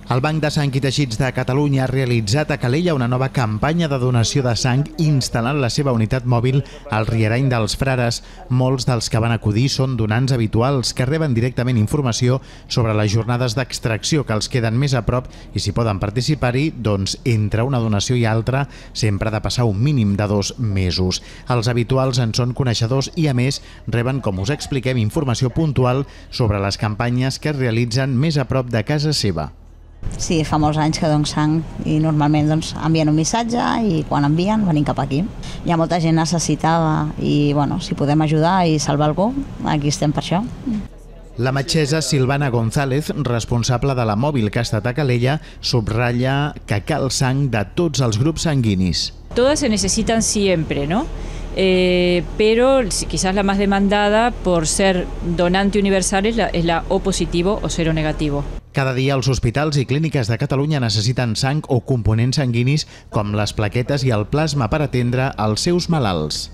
El Banc de Sang i Teixits de Catalunya ha realitzat a Calella una nova campanya de donació de sang instal·lant la seva unitat mòbil al Rierany dels Frares. Molts dels que van acudir són donants habituals que reben directament informació sobre les jornades d'extracció que els queden més a prop i si poden participar-hi, doncs entre una donació i altra sempre ha de passar un mínim de 2 mesos. Els habituals en són coneixedors i a més reben, com us expliquem, informació puntual sobre les campanyes que es realitzen més a prop de casa seva. Sí, fa molts anys que dono sang i normalment envien un missatge i quan envien venim cap aquí. Hi ha molta gent necessitada i si podem ajudar i salvar algú, aquí estem per això. La metgessa Silvana González, responsable de la mòbil que ha estat a Calella, subratlla que cal sang de tots els grups sanguinis. Todas se necesitan siempre, ¿no? Pero quizás la más demandada por ser donante universal es la O positivo o cero negativo. Cada dia els hospitals i clíniques de Catalunya necessiten sang o components sanguinis com les plaquetes i el plasma per atendre els seus malalts.